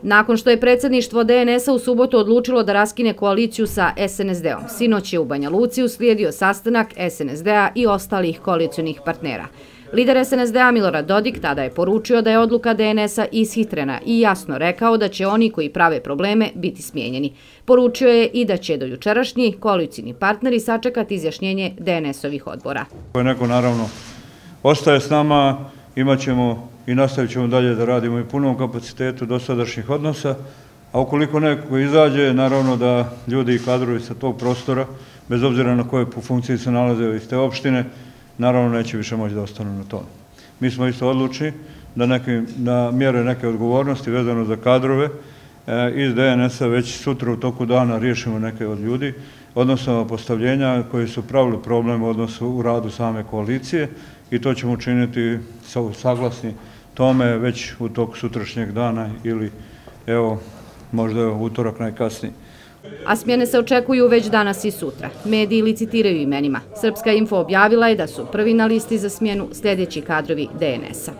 Nakon što je predsjedništvo DNS-a u subotu odlučilo da raskine koaliciju sa SNSD-om, sinoć je u Banja Luci uslijedio sastanak SNSD-a i ostalih koalicionih partnera. Lider SNSD-a Milorad Dodik tada je poručio da je odluka DNS-a ishitrena i jasno rekao da će oni koji prave probleme biti smijenjeni. Poručio je i da će do jučerašnji koalicijni partneri sačekati izjašnjenje DNS-ovih odbora. Neko naravno ostaje s nama, imat ćemo i nastavit ćemo dalje da radimo i punom kapacitetu dosadašnjih odnosa, a ukoliko neko izađe, naravno da ljudi i kadrovi sa tog prostora, bez obzira na koje funkciji se nalaze iz te opštine, naravno neće više moći da ostanu na tome. Mi smo isto odlučni da mjere neke odgovornosti vezano za kadrove iz DNS-a već sutra u toku dana riješimo neke od ljudi, odnosno postavljenja koji su pravili problem u radu same koalicije i to ćemo učiniti saglasni tome već u toku sutrašnjeg dana ili evo možda je utorak najkasniji. A smjene se očekuju već danas i sutra. Mediji licitiraju imenima. Srpska info objavila je da su prvi na listi za smjenu sljedeći kadrovi DNS-a.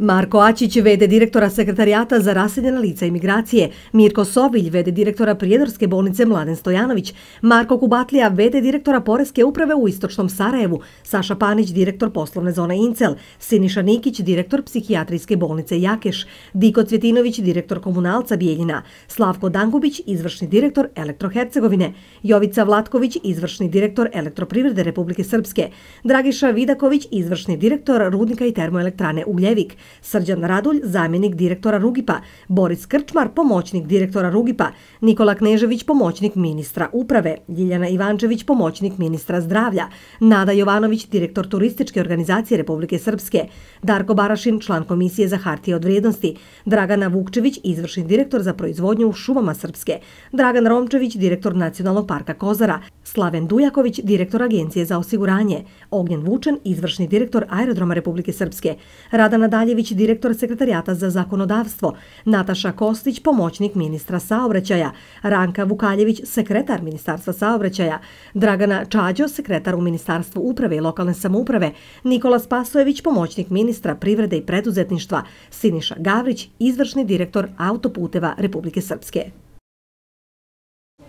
Marko Ačić, v.d. direktora Sekretarijata za raseljena lica i migracije, Mirko Sovilj, v.d. direktora Prijedorske bolnice Mladen Stojanović, Marko Kubatlija, v.d. direktora Poreske uprave u Istočnom Sarajevu, Saša Panić, direktor poslovne zone Incel, Siniša Nikić, direktor Psihijatrijske bolnice Jakeš, Diko Cvjetinović, direktor Komunalca Bijeljina, Slavko Dangubić, izvršni direktor Elektrohercegovine, Jovica Vlatković, izvršni direktor Elektroprivrede Republike Srpske, Dragiša Vidaković, izvršni direktor Rudnika i termoelektrane Ugljevik, Srđan Radulj, zamjenik direktora Rugipa, Boris Krčmar, pomoćnik direktora Rugipa, Nikola Knežević, pomoćnik ministra uprave, Ljiljana Ivančević, pomoćnik ministra zdravlja, Nada Jovanović, direktor Turističke organizacije Republike Srpske, Darko Barašin, član Komisije za hartije od vrijednosti, Dragana Vukčević, izvršni direktor za proizvodnju u šumama Srpske, Dragan Romčević, direktor Nacionalnog parka Kozara, Slaven Dujaković, direktor Agencije za osiguranje, Ognjen Vučen, izvršni direktor Aerodroma Republike Srpske, Radana Daljević, direktor Sekretarijata za zakonodavstvo, Nataša Kostić, pomoćnik ministra saobraćaja, Ranka Vukaljević, sekretar Ministarstva saobraćaja, Dragana Čađo, sekretar u Ministarstvu uprave i lokalne samouprave, Nikola Spasojević, pomoćnik ministra privrede i preduzetništva, Siniša Gavrić, izvršni direktor Autoputeva Republike Srpske.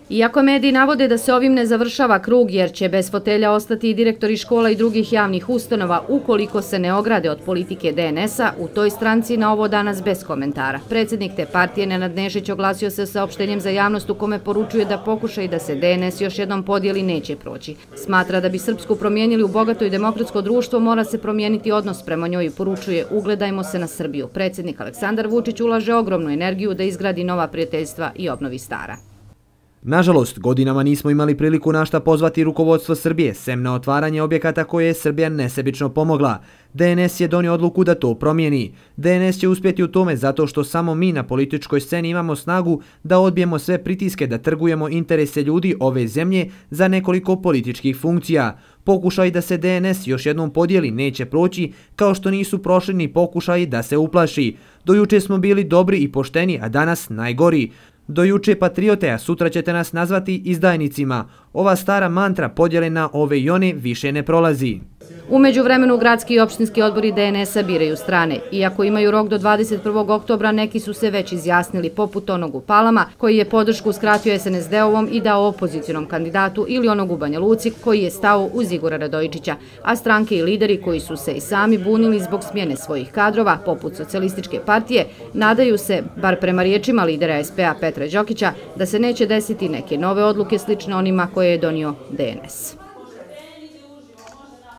Iako mediji navode da se ovim ne završava krug jer će bez fotelja ostati i direktori škola i drugih javnih ustanova ukoliko se ne ograde od politike DNS-a, u toj stranci na ovo danas bez komentara. Predsjednik te partije Nenad Nešić oglasio se saopštenjem za javnost u kome poručuje da pokušaj da se DNS još jednom podijeli neće proći. Smatra da bi Srpsku promijenili u bogato i demokratsko društvo, mora se promijeniti odnos prema njoj i poručuje ugledajmo se na Srbiju. Predsjednik Aleksandar Vučić ulaže ogromnu energiju da izgradi nova prijateljstva i obnovi stara. Nažalost, godinama nismo imali priliku na šta pozvati rukovodstvo Srbije, sem na otvaranje objekata koje je Srbija nesebično pomogla. DNS je donio odluku da to promijeni. DNS će uspjeti u tome zato što samo mi na političkoj sceni imamo snagu da odbijemo sve pritiske da trgujemo interese ljudi ove zemlje za nekoliko političkih funkcija. Pokušaj da se DNS još jednom podijeli neće proći, kao što nisu prošli ni pokušaji da se uplaši. Do juče smo bili dobri i pošteni, a danas najgori. Do juče patriote, a sutra ćete nas nazvati izdajnicima. Ova stara mantra podjele na ove i one više ne prolazi. U međuvremenu gradski i opštinski odbori DNS-a biraju strane. Iako imaju rok do 21. oktobra, neki su se već izjasnili poput onog u Palama, koji je podršku uskratio SNSD-ovom i dao opozicionom kandidatu, ili onog u Banja Luci, koji je stao uz Igora Radojičića. A stranke i lideri koji su se i sami bunili zbog smjene svojih kadrova, poput Socijalističke partije, nadaju se, bar prema riječima lidera SP-a Petra Đokića, da se neće desiti neke nove odluke slične onima koje je donio DNS.